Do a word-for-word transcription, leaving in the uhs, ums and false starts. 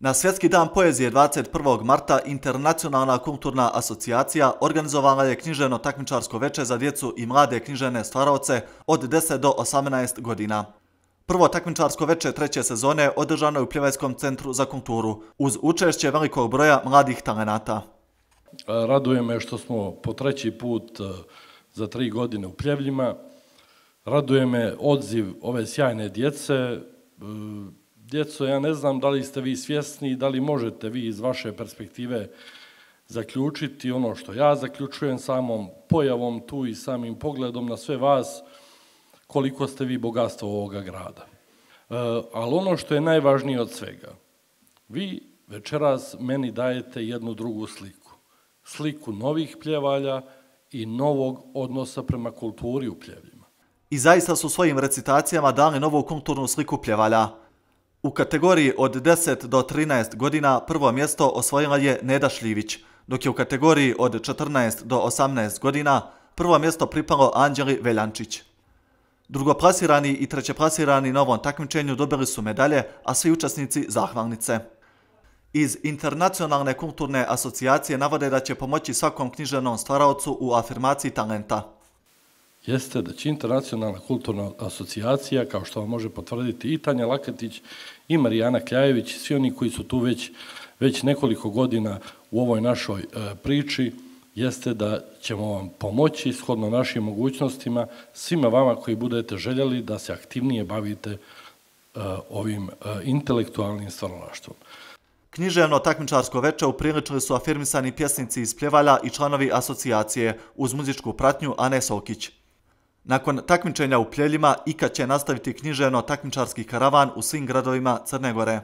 Na Svjetski dan poezije dvadeset prvog marta Internacionalna kulturna asocijacija organizovala je književno-takmičarsko veče za djecu i mlade književne stvaraoce od deset do osamnaest godina. Prvo takmičarsko veče treće sezone održano je u Pljevajskom centru za kulturu, uz učešće velikog broja mladih talenata. Raduje me što smo po treći put za tri godine u Pljevljima. Raduje me odziv ove sjajne djece. Djeco, ja ne znam da li ste vi svjesni i da li možete vi iz vaše perspektive zaključiti ono što ja zaključujem samom pojavom tu i samim pogledom na sve vas, koliko ste vi bogatstvo ovoga grada. Ali ono što je najvažnije od svega, vi večeras meni dajete jednu drugu sliku. Sliku novih Pljevalja i novog odnosa prema kulturi u Pljevljima. I zaista su svojim recitacijama dali novu kulturnu sliku Pljevalja. U kategoriji od deset do trinaest godina prvo mjesto osvojila je Neda Šljivić, dok je u kategoriji od četrnaest do osamnaest godina prvo mjesto pripalo Anđeli Veljančić. Drugoplasirani i trećeplasirani na ovom takmičenju dobili su medalje, a svi učesnici zahvalnice. Iz Internacionalne kulturne asocijacije navode da će pomoći svakom književnom stvaraocu u afirmaciji talenta. Jeste da će Internacionalna kulturna asocijacija, kao što vam može potvrditi i Tanja Laketić i Marijana Kljajević, svi oni koji su tu već, već nekoliko godina u ovoj našoj e, priči, jeste da ćemo vam pomoći shodno našim mogućnostima, svima vama koji budete željeli da se aktivnije bavite e, ovim e, intelektualnim stvaralaštvom. Književno takmičarsko veče upriličili su afirmisani pjesnici iz Pljevalja i članovi asocijacije uz muzičku pratnju Ane Sokić. Nakon takmičenja u Pljevljima, I K A će nastaviti književno takmičarski karavan u svim gradovima Crne Gore.